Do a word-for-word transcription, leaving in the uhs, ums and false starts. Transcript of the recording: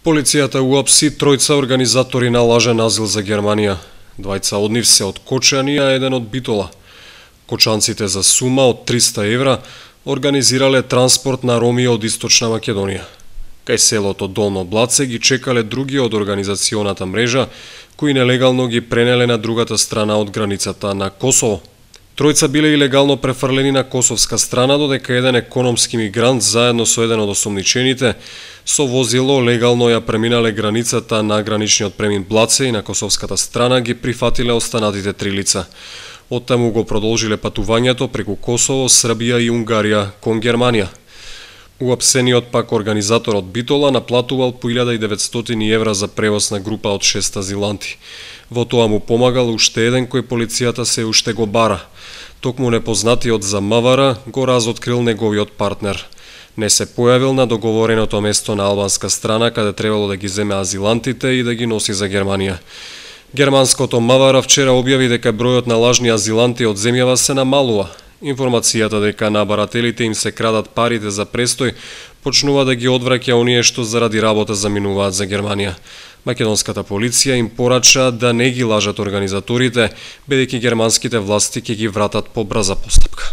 Полицијата уапси тројца организатори на лажен азил за Германија. Двајца од нив се од Кочани, а еден од Битола. Кочанците за сума од триста евра организирале транспорт на роми од Источна Македонија. Кај селото Долно Блаце ги чекале други од организационата мрежа, кои нелегално ги пренеле на другата страна од границата на Косово. Тројца биле илегално префрлени на косовска страна, додека еден економски мигрант заедно со еден од осомничените со возило легално ја преминале границата на граничниот премин Блаце и на косовската страна ги прифатиле останатите три лица. Оттаму го продолжиле патувањето преку Косово, Србија и Унгарија кон Германија. Уапсениот пак организатор од Битола наплатувал по илјада и деветстотини евра за превоз на група од шест азиланти. Во тоа му помагал уште еден кој полицијата се уште го бара. Токму непознатиот за МВР го разоткрил неговиот партнер. Не се појавил на договореното место на албанска страна, каде требало да ги земе азилантите и да ги носи за Германија. Германското МВР вчера објави дека бројот на лажни азиланти од земјава се намалува. Информацијата дека на барателите им се крадат парите за престој почнува да ги одвраќа оние што заради работа заминуваат за Германија. Македонската полиција им порача да не ги лажат организаторите, бидејќи германските власти ќе ги вратат по брза постапка.